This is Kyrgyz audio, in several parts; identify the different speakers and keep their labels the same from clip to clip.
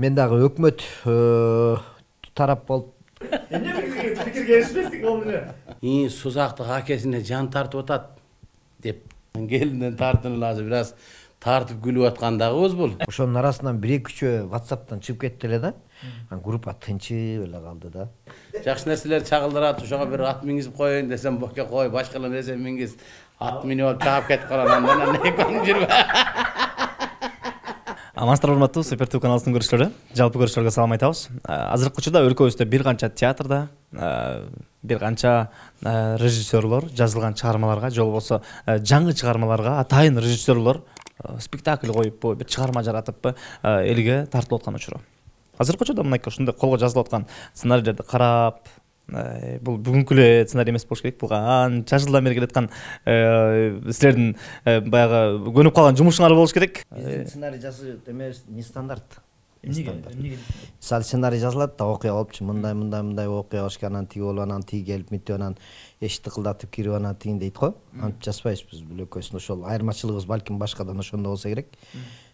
Speaker 1: Мен дагы өкмөт тарап болуп
Speaker 2: эмне пикирге эришпестик болду эле.
Speaker 3: Сузактык акесине жан тартып атат деп келинден тартынып азыр бир аз тартып күлүп аткандагыбыз бул.
Speaker 1: ошонун арасынан 1-2 WhatsApp'тан чыгып кетти эле да. Группа тынчып эле калды да.
Speaker 3: Жакшы нерселер чагылдырат, ошого бир ат мингизип коеюн десем, боке кой, башкалар нерсе мингиз. Ат минип алып чаап кетип калган, андан экөөң жүрбө.
Speaker 2: Амансыздар урматтуу Супер ТV каналынын көрүүчүлөрү. Жалпы көрүүчүлөргө салам айтабыз. Азыркы учурда өлкөбүздө бир канча театрда, бир канча режиссерлор жазылган чыгармаларга, же болбосо жаңы чыгармаларга атайын режиссерлор спектакль коюп, бир чыгарма жаратып, элге тартылып аткан учуру. Азыркы учурда мынакей ушундай колго жазылып аткан сценарийлерди карап, бул бүгүнкү эле сценарий эмес болуш керек. Бул канча жылдан бери келаткан силердин баягы көнүп калган жумушуңар болуш керек.
Speaker 1: Сценарий жазып эмес не стандарт. Мисалы сценарий жазылат да, окуя болупчу, мындай окуя болуш керек, анан тиги болуп, анан тиги келип мынтип, анан эшикти кылдатып кирип, анан тигин дейт го. Антип жазбайбыз биз бөлөкөсүн. Ошол айырмачылыгыбыз балким башкадан ошондо болсо керек.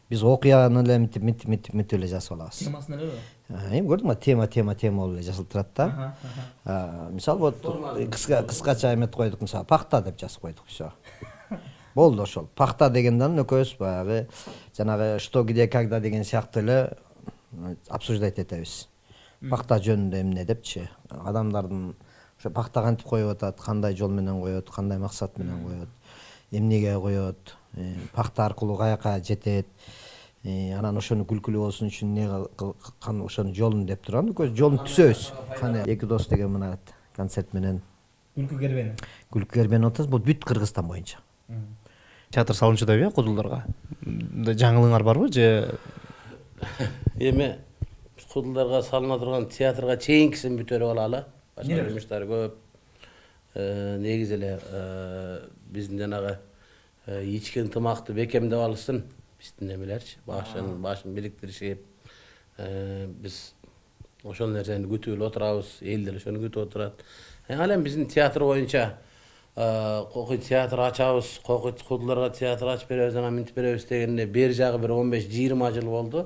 Speaker 1: Биз окуяны эле мынтип эле жазып алабыз.
Speaker 2: Темасын элеби?
Speaker 1: Эми көрдүңбү, тема болуп эле жазылып турат да. Мисалы вот кыскача эметип койдук, мисалы пахта деп жазып койдук, всё. Болду ошол. Пахта дегенден экөөбүз баягы жанагы что где когда деген сыяктуу эле обсуждать этебиз. Пахта жөнүндө эмне депчи. Адамдардын ошо пахта кантип коюп атат, кандай жол менен коет, кандай максат менен коет, эмнеге коет, пахта аркылуу каяка жетет. Анан ошону күлкүлүү болсун үчүн эмне ошонун жолун деп турган, жолун түзөбүз. Кане эки дос деген мына концерт менен Күлкү кербени отабыз. Бул бүт Кыргызстан боюнча.
Speaker 2: Театр салынчу деп кудулдарга. Жаңылыгыңар барбы же?
Speaker 3: Эми кудулдарга салына турган театрга чейинкисин бүтөрүп алалы. Башка жумуштар көп. Негизи эле биздин жанагы ички ынтымакты бекемдеп алышсын. Биздин эмелерчи, башын бириктиришип, биз ошол нерсени күтүп эле отурабыз, эл деле ошону күтүп отурат. Ал эми биздин театр боюнча кокуй театр ачабыз, кокуй кудулдарга театр ачып беребиз, анан мынтип беребиз дегенде бери жагы бир 15-20 жыл болду.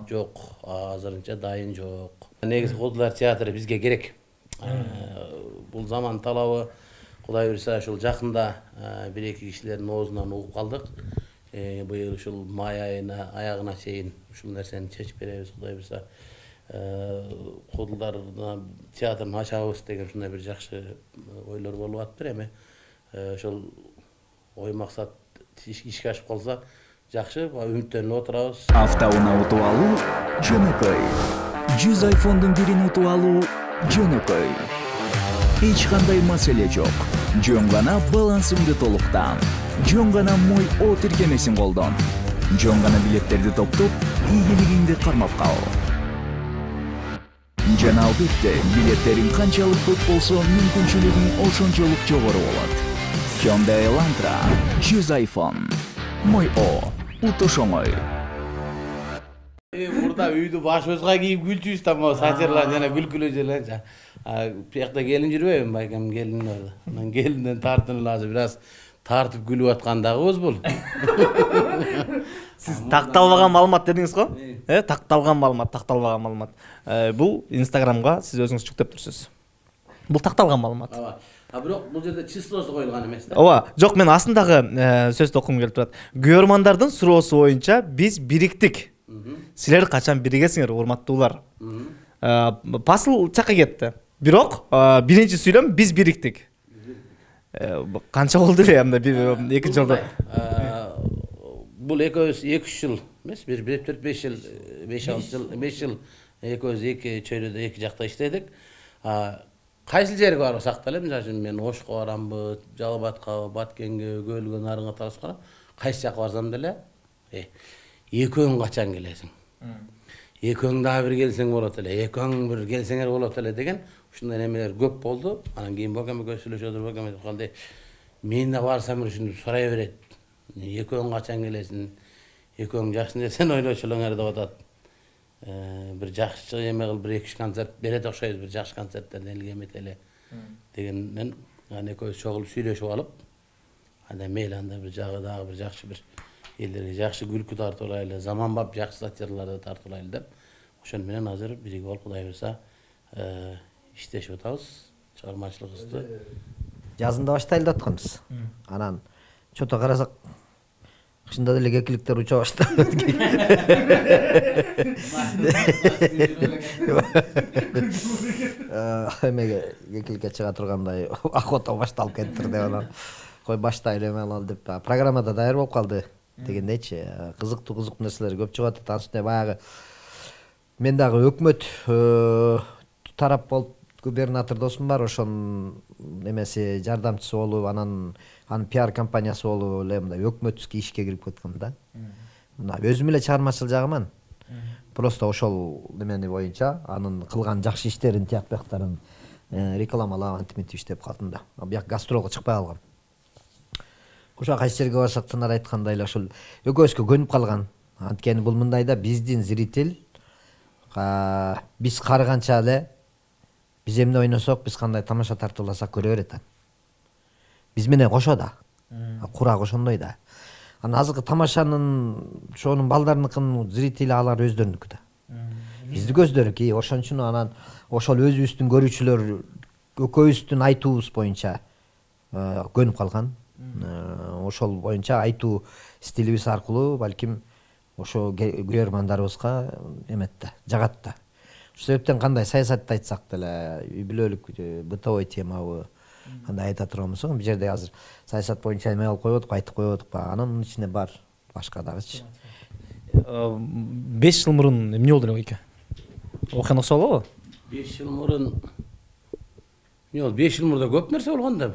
Speaker 3: Жок, азырынча дайын жок. Негизи кудулдар театры бизге керек. Бул заман талабы. Кудай буйрса ушул жакында 1-2 кишилердин оозунан угуп калдык. Быйыл ушул май айына аягына чейин ушул нерсени чечип беребиз, Кудай буйрса. Кудулдарда театрын ачабыз деген ушундай бир жакшы ойлор болуп атыптыр. Эми ошол ой максат ишке ашып калса жакшы, үмүттөнүп отурабыз.
Speaker 4: Автоунаа утуп алуу жөнөкөй. 100 iPhone'дун бирин утуп алуу жөнөкөй. Эч кандай маселе жок. Жөн гана балансыңды толуктан. Жөн гана мой О тиркемесин колдон. Жөн гана билеттерди топтоп, ийгилигиңди кармап кал. Жана албетте, билеттериң канчалык көп болсо, мүмкүнчүлүгүң ошончолук жогору болот. Hyundai Elantra 100 iPhone. Мой О, утуш оңой.
Speaker 3: Мурда үйдү башыбызга кийип күлчүбүз да, могу сатирлар жана күлкүлүү жерлер. Биякта келин жүрбөйбү, байкем келин бар. Анан келинден тартынып азыр бир аз тартып күлүп аткандагыбыз бул.
Speaker 2: Сиз такталбаган маалымат дедиңиз го? Такталган маалымат. Бул Instagramга сиз өзүңүз жүктөп турсуз. Бул такталган маалымат.
Speaker 3: Бирок бул жерде числосу коюлган эмес да.
Speaker 2: Ооба, жок, мен астындагы сөздү окугум келип турат. Көрөрмандардын суроосу боюнча биз бириктик. Силер качан биригесиңер, урматтуулар? Пасыл чакка кетти. Бирок биринчи сүйлөм биз бириктик. Канча болду эле анда экинчи жолдо?
Speaker 3: Бул экөөбүз 2-3 жыл эмес, 1-4-5 жыл, 5 жыл экөөбүз эки чөйрөдө эки жакта иштедик. Кайсыл жерге барсак деле, мисалы мен Ошко барамбы, Жалал Абадка, Баткенге, Көлгө, Нарынга талашкан. Кайсы жакка барсам деле, экөөң качан келесиң? Экөөң дагы бир келсең болот эле, экөөң бир келсеңер болот эле деген ушундай немелер көп болду. Анан кийин бокемге сүйлөшүп отуруп, бокем айтып калды, мен да барсам ушуну сурай берет. Экөөң качан келесиң? Экөөң жакшы нерсени ойлочулуңар деп атат. Бир жакшы эме кылып, бир 2-3 концерт берет окшойбуз, бир жакшы концерттерден элге эметели дегенден анан экөөбүз чогулуп сүйлөшүп алып, анда мейли анда бир жагы дагы бир жакшы бир элдерге жакшы күлкү тартуулайлы, заманбап жакшы сатирларды тартуулайлы деп ошону менен азыр биригип алып Кудай буйрса иштешип атабыз, чыгармачылыгыбызды
Speaker 1: жазында баштайлы деп атканбыз. Анан чото карасак чында деле кекиликтер уча баштады. Эмеге кекиликке чыга тургандай охота башталып кетти деп анан кой баштайлы эме деп программада даяр болуп калды дегендейчи. Кызыктуу нерселер көп чыгып атат. Анын үстүнө баягы мен дагы өкмөт тарап болуп губернатор досум бар, ошонун эмеси жардамчысы болуп, анан пиар компаниясы болуп эле мындай өкмөттүк ишке кирип кеткем да. Мына өзүм эле чыгармачыл жагыман. Просто ошол немени боюнча анын кылган жакшы иштерин, тияк бияктарын рекламалап антимитип иштеп калдым да. Бияк гастролго чыкпай калгам. Ошо кайсы жерге барсак Тынар айткандай эле ошол экөөбүзгө көнүп калган. Анткени бул мындай да, биздин зритель биз карыганча эле биз эмне ойносок, биз кандай тамаша тартууласак көрө берет. Биз менен кошо да. Курак ошондой да. Анан азыркы тамашанын ошонун балдарыныкынын зрители алар өздөрүнүкү да. Биздики өздөрүнүкү. Ошон үчүн анан ошол өзүбүздүн көрүүчүлөр экөөбүздүн айтуубуз боюнча көнүп калган. Ошол боюнча айтуу стилибиз аркылуу балким ошо көрөрмандарыбызга эмет да, жагат да. Ошол себептен кандай саясатты айтсак деле, үй бүлөлүк бытовой темабы кандай айта турганбыз, бул жерде азыр саясат боюнча эме алып койбодук, айтып койбодук, анын ичинде бар башка дагычы.
Speaker 2: 5 жыл мурун эмне болду эке? Окуян окшо болобу?
Speaker 3: 5 жыл мурун эмне болду? 5 жыл мурда көп нерсе болгон да.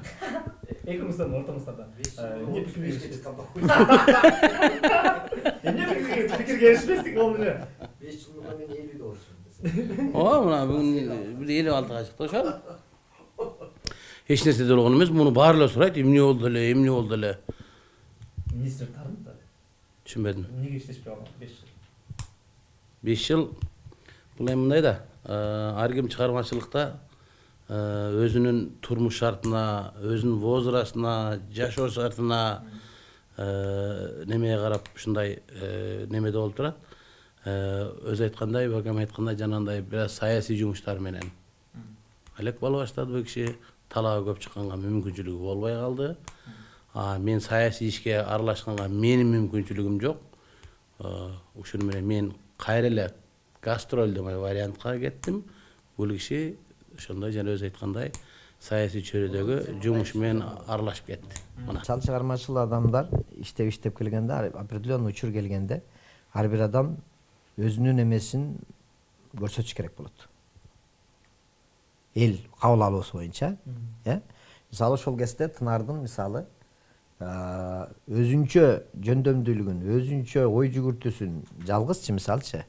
Speaker 2: Экөөңүздөрдүн ортоңуздарда эмне пикир келишпестик болду эле?
Speaker 1: 5 жыл мурда мен 50 болчумун.
Speaker 3: Мына бүгүн 56-га чыкты ошол. Эч нерсе болгон эмес, муну баары эле сурайт, эмне болду эле, эмне болду эле.
Speaker 2: Эмнеси тардым да?
Speaker 3: Түшүнбөдүм.
Speaker 2: Эмнеге иштешпей калган 5 жыл?
Speaker 3: 5 жыл бул эми мындай да, ар ким чыгармачылыкта өзүнүн турмуш шартына, өзүнүн возрастына, жашоо шартына немеге карап ушундай немеде болуп турат. Өзү айткандай, бакам айткандай, жанагындай бир аз саясий жумуштар менен алек боло баштады бул киши. Талабы көп чыкканга мүмкүнчүлүгү болбой калды. Мен саясий ишке аралашканга менин мүмкүнчүлүгүм жок. Ушуну менен мен кайра эле гастроль деген вариантка кеттим. Бул киши ошондой жана өзү айткандай саясий чөйрөдөгү жумушу менен аралашып кетти. Мына
Speaker 1: Чал чыгармачыл адамдар иштеп келгенде, определенный учур келгенде ар бир адам өзүнүн эмесин көрсөтүш керек болот. Эл кабыл алуусу боюнча, мисалы ошол кезде Тынардын мисалы өзүнчө жөндөмдүүлүгүн, өзүнчө ой жүгүртүүсүн жалгызчы мисалчы,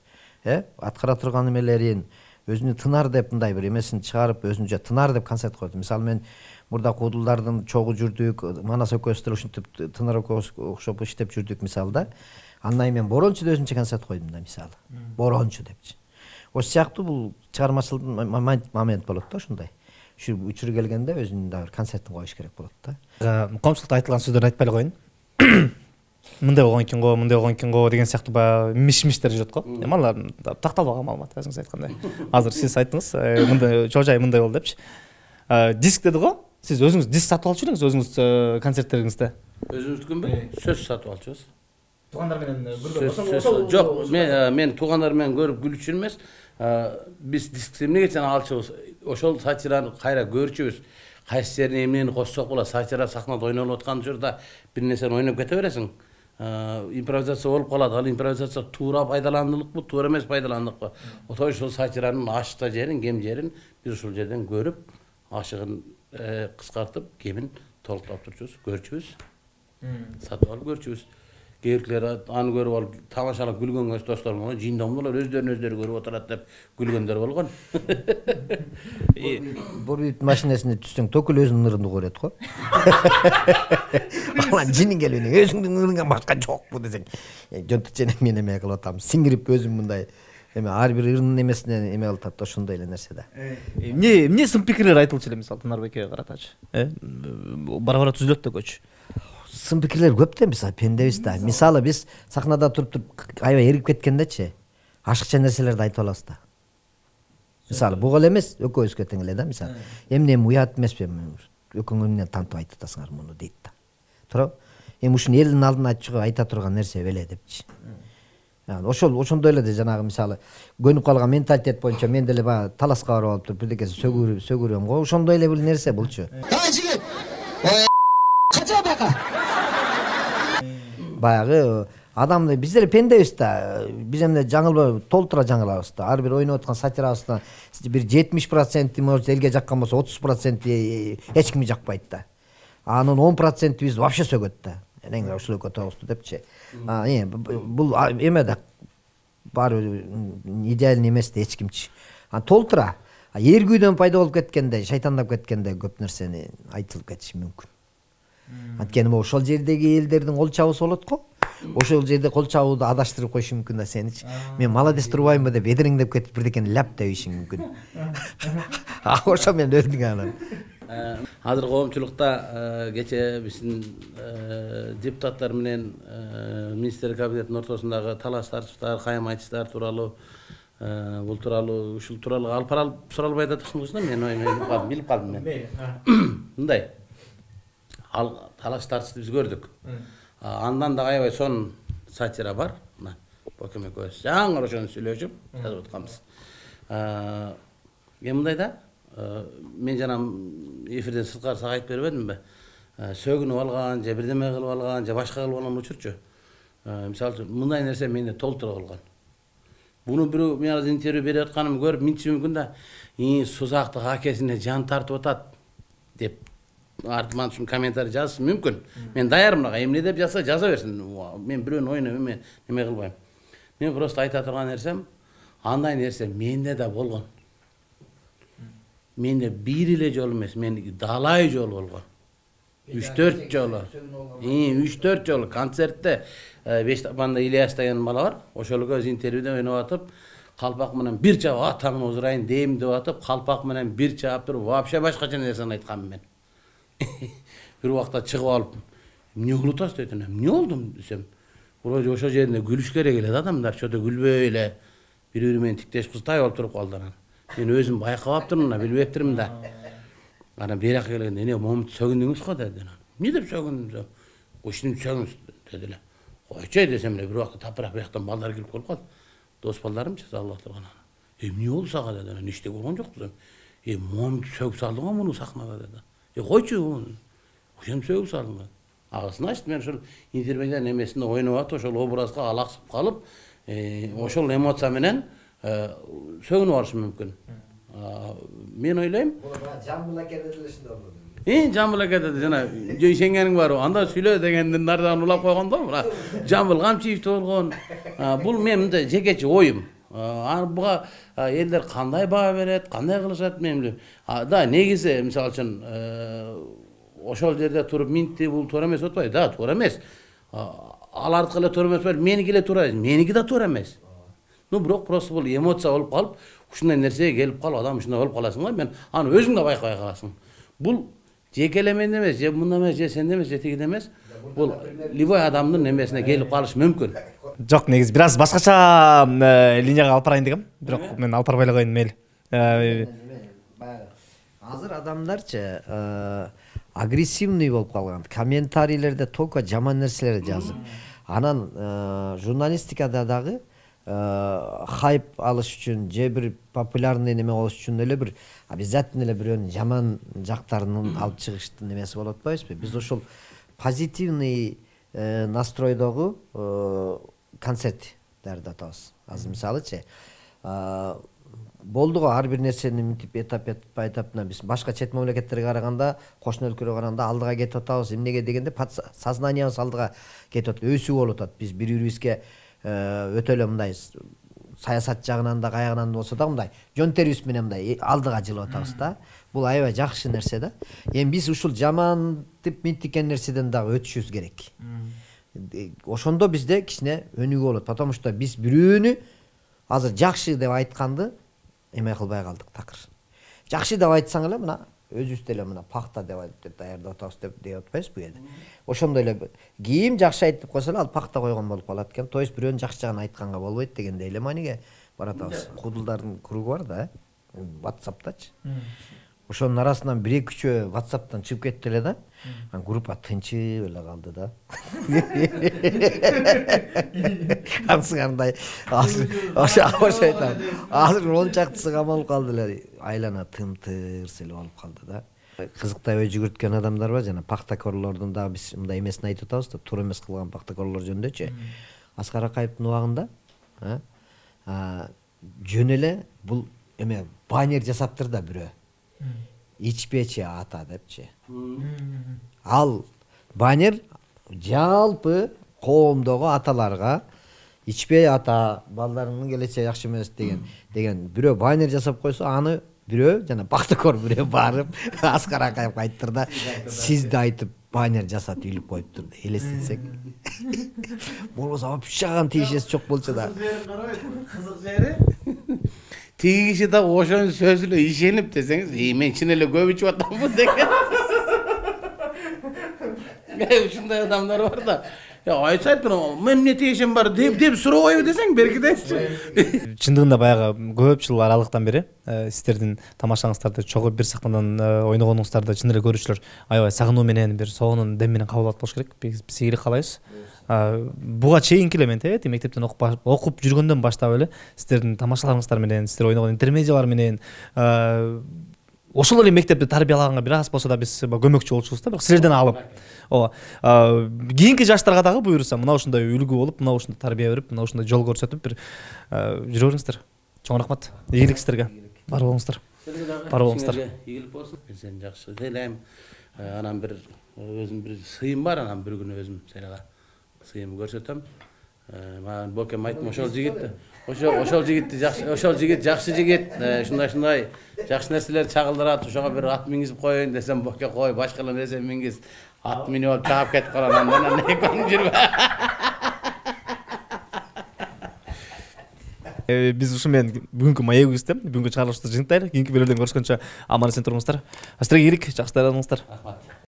Speaker 1: аткара турган эмелерин өзүнү Тынар деп мындай бир эмесин чыгарып, өзүнчө Тынар деп концерт койду. Мисалы мен мурда куудулдардын чогу жүрдүк, Манас экөөбүз деле ушинтип Тынар экөөбүз окшоп иштеп жүрдүк мисалы да. Андан мен Борончу деп өзүмчө концерт койдум да мисалы. Борончу депчи. Ошол сыяктуу бул чыгармачылыктын момент болот да ошондой. Ушу учур келгенде өзүнүн дагы концертин коюш керек болот да.
Speaker 2: Коомчулукта айтылган сөздөрдү айтпай эле коеюн. Мындай болгон экен го, мындай болгон экен го деген сыяктуу баягы миш-миштер жүрөт го. Эми алар такталбаган маалымат, өзүңүз айткандай. Азыр сиз айттыңыз, мындай чожай мындай болду депчи. Диск деди го. Сиз өзүңүз диск сатып алчу элеңиз өзүңүз концерттериңизде?
Speaker 3: Өзүбүздүкүнбү? Сөз сатып алчубуз.
Speaker 2: Туугандар менен бирден
Speaker 3: жок, мен туугандар менен көрүп күлүчү эмес. Биз диск эмнеге чана алчубуз? Ошол сатираны кайра көрчүбүз. Кайсы жерине эмнени коссок болот? Сатира сахнада ойнолуп аткан учурда бир нерсени ойноп кете бересиң. Импровизация болуп калат. Ал импровизация туура пайдаландылыкпы, туура эмес пайдаландыкпы? Ошол сатиранын ашта жерин, кем жерин биз ушул жерден көрүп, ашыгын кыскартып, кемин толуктап турчубуз, көрчүбүз. Сатып алып көрчүбүз. Кээбиркилер аны көрүп алып тамашалап күлгөнгө достор менен жиндомдолор өздөрү көрүп отурат деп күлгөндөр болгон.
Speaker 1: Бул машинесине түссөң токул өзүнүн ырын көрөт го. Алан жинин келүүнү өзүңдүн ырыңан башка жокпу десең, жөнтүчөнө мен эме кылып атам. Сиңирип өзүм мындай эме ар бир ырынын эмесине эме кылып атат, ошондой эле нерсе да.
Speaker 2: Эмне сын пикирлер айтылчу эле мисалы Тынарбекке каратачы? Бара-бара түзүлөт да көчү.
Speaker 1: Сын пикирлер көп да, мисалы пендебиз да. Мисалы биз сахнада туруп аябай эригип кеткендечи, ашыкча нерселерди айтып алабыз да. Мисалы буга эле эмес, экөөбүзгө тең эле да, мисалы. Эмне уят эмеспи, экөөңөр менен тантып айтып атасыңар муну дейт да. Туурабы? Эми ушуну элдин алдына чыгып айта турган нерсе беле депчи. Ошондой эле жанагы мисалы көнүп калган менталитет боюнча мен деле баягы таласка барып алып туруп бирдекеси сөгүрөм го. Ошондой эле бир нерсе булчу. Жигит. Кача бака. Баягы адамды биз деле пендебиз да. Биз эмне жаңылбай толтура жаңылабыз да. Ар бир ойноп аткан сатирабыздан бир 70% может элге жаккан болсо 30% эч кимге жакпайт да. Анын 10% биз вообще сөгөт да. Эне ушул экөө тоосту депчи. Бул эме да баары идеальный эмес да эч кимчи. Толтура. Эргүүдөн пайда болуп кеткенде, шайтандап кеткенде көп нерсени айтылып кетиши мүмкүн. Анткени могу ошол жердеги элдердин кол чабуусу болот го. Ошол жерде кол чабууду адаштырып коюшу мүмкүн да сеничи. Мен молодец турбаймынбы деп эдириңдеп кетип бирдекени ляп дебишиң мүмкүн. Ошо мен өлдүң анан.
Speaker 3: Азыр коомчулукта кече биздин депутаттар менен министрлер кабинетинин ортосундагы талаш тартыштар, кайым айтыштар тууралуу бул тууралуу ушул тууралуу алып баралып суралбай атышсыңыз да, мен билип калдым мен. Мындай ал талаш тартышты биз көрдүк. Андан да аябай сонун сатира бар. Мына Бокем экөөбүз жаңы ошону сүйлөшүп жазып атканбыз. Мындай да мен жана эфирден сырткары сага айтып бербедимби? Сөгүнүп алган, же бирдеме кылып алган, же башка кылып алган учурчу. Мисалы үчүн мындай нерсе менде толтура калган. Буну бирөө мен азыр интервью берип атканымды көрүп минтиши мүмкүн да, сузактык акесине жан тартып атат деп артыман ушун комментарий жазышы мүмкүн. Мен даярмын ага, эмне деп жазса жаза берсин. Мен бирөөнүн оюна неме кылбайм. Мен просто айта турган нерсем, андай нерсе менде да болгон. Менде бир эле жолу эмес, мен далай жолу болгон. 3-4 жолу. 3-4 жолу концертте Бештапанда Ильяс деген бала бар. Ошол көз интервьюда ойноп атып, калпак менен бир чап атаңды озурайын дейм деп атып, калпак менен бир чап туруп вообще башкача нерсени айтканмын мен. Бир убакта чыгып алып, эмне кылып атасыз дедим. Эмне болдум десем, вроде ошол жеринде күлүш керек эле адамдар, чото күлбөй эле бири-бири менен тиктеш кызтай болуп туруп калдылар. Мен өзүм байкабаптырмын да, билбептирмин да. Анан бери жака келгенде, "Эне, момунту сөгүндүңүз го" деди. "Эмне деп сөгүндүм?" "Ушуну сөгүңүз" деди эле. "Койчу" десем эле, бир убакта тапырак бияктан балдар келип калып, дос балдарымчы салып турган. "Эмне болду сага" деди. "Анан эчтеке болгон жок" десем. "Момунту сөгүп салдың го муну сахнада" деди. "Койчу, ошентип сөгүп салдым" деди. Агасын ачты, мен ошол интервьюдун эмесинде ойноп атып, ошол образга алаксып калып, ошол эмоция менен сөгүнүп алышым мүмкүн. Мен ойлойм, Жамбыл аке деле ушундай болду. Жамбыл аке деди, жана ишенгениң барбы? Анда сүйлө дегендин нардан улап койгон да, мына Жамбыл Камчиев болгон. Бул мен мындай жекече оюм. Буга элдер кандай баа берет, кандай кылышат мен билбейм. Да, негизи мисалы үчүн ошол жерде туруп минти бул туура эмес деп атпайбы? Да, туура эмес. Алардыкы эле туура эмес, меники эле туура, меники да туура эмес. Бирок просто бул эмоция болуп калып, ушундай нерсеге келип калып, адам ушундай болуп каласың да, мен аны өзүң да байкабай каласың. Бул жеке эле менде эмес, же мында эмес, же сенде эмес, же тигиде эмес. Бул любой адамдын немесине келип калышы мүмкүн.
Speaker 2: Жок, негизи бир аз башкача линияга алып барайын дегем, бирок мен алып барбай эле коеюн мейли.
Speaker 1: Азыр адамдарчы агрессивный болуп калган. Комментарийлерде только жаман нерселерди жазып. Анан журналистикада дагы хайп алыш үчүн же бир популярный неме болуш үчүн эле бир обязательно эле бирөөнүн жаман жактарын алып чыгыштын немеси болуп атпайбызбы? Биз ошол позитивный настройдогу концерттерди атабыз. Азыр мисалычы болду го ар бир нерсени мынтип этап биз башка чет мамлекеттерге караганда, кошуна өлкөлөргө караганда алдыга кетип атабыз. Эмнеге дегенде сознаниябыз алдыга кетип атат, өсүп болуп атат. Биз бири-бирибизге өтө эле мындай саясат жагынан да каягынан болсо да мындай жон терибиз менен мындай алдыга жылып атабыз да. Бул аябай жакшы нерсе да. Эми биз ушул жамантип минтикен нерседен дагы өтүшүбүз керек. Ошондо бизде кичине өнүгүү болот, потому что биз бирөөнү азыр жакшы деп айтканды эме кылбай калдык такыр. Жакшы деп айтсаң эле мына өзүбүз деле мына пахта деп даярдап атабыз деп атпайбызбы кээде. Ошондой эле кийим жакшы айтып койсо эле ал пахта койгон болуп калат экен. То есть бирөөнүн жакшы жагын айтканга болбойт дегендей эле мааниге баратабыз. Кудулдардын кругу бар да, WhatsApp'тачы. Ошонун арасынан 1-2 үчөө WhatsApp'тан чыгып кетти эле да. Группа тынчып эле калды да. Кандай ошо айтам. Азыр 10 чактысы камалып калды эле. Айлана тым-тырс эле болуп калды да. Кызыктай ой жүгүрткөн адамдар бар, жана пахтакорлордун дагы биз мындай эмесин айтып атабыз да, туура эмес кылган пахтакорлор жөнүндөчү. Аскар Акаевдин убагында жөн эле бул эме баннер жасаптыр да бирөө. Ичпечи ата депчи. Ал баннер жалпы коомдогу аталарга ичпей ата, балдарыңдын келечеги жакшы эмес деген бирөө баннер жасап койсо, аны бирөө жана пахтакор бирөө барып Аскар Акаевге айттыр да, сизди айтып баннер жасатып илип коюптур деп элестетсек. Болбосо вообще тиешеси жок болчу да.
Speaker 3: Кызык жери тиги киши да ошонун сөзүнө ишенип десеңиз, мен чын эле көп ичип атамбы деген. Ушундай адамдар бар да. Айтсайт, мен эмне тиешем бар деп сурабайбы десең, беркидечи.
Speaker 2: Чындыгында баягы көп жыл аралыктан бери сиздердин тамашаңыздарды чогуу бир сахнадан ойногонуңуздарды чын эле көрүүчүлөр аябай сагынуу менен, бир соонун дем менен кабыл алат болуш керек. Биз ийгилик каалайбыз. Буга чейинки эле мен мектептен окуп жүргөндөн баштап эле сиздердин тамашаларыңыздар менен, сиздер ойногон интермедиялар менен ошол эле мектепте тарбиялаганга бир аз болсо да биз көмөкчү болчубуз да, бирок силерден алып. Кийинки жаштарга дагы буюрса, мына ушундай үлгү болуп, мына ушундай тарбия берип, мына ушундай жол көрсөтүп бир жүрө бериңиздер. Чоң рахмат. Ийгилик сиздерге. Бар болуңуздар. Бар болуңуздар.
Speaker 3: Ийгилик болсун. Сен жакшы элем. Анан бир өзүм бир сыйым бар, анан бир күнү өзүм сенага сыйым көрсөтөм. Маған бокем айттым, ошол жигит жакшы жигит, ушундай жакшы нерселер чагылдырат, ошого бир ат мингизип коеюн десем, боке кой, башкалар нерсе мингиз. Ат минип алып чаап кетип калган, анан экөөң жүрбө.
Speaker 2: Биз ушу менен бүгүнкү маегибизди, бүгүнкү чыгарылышты жыйынтайлы. Кийинки бөлүмдөн көрүшкөнчө аман эсен туруңуздар. Сиздерге ийгилик, жакшы даярданыңыздар.
Speaker 3: Рахмат.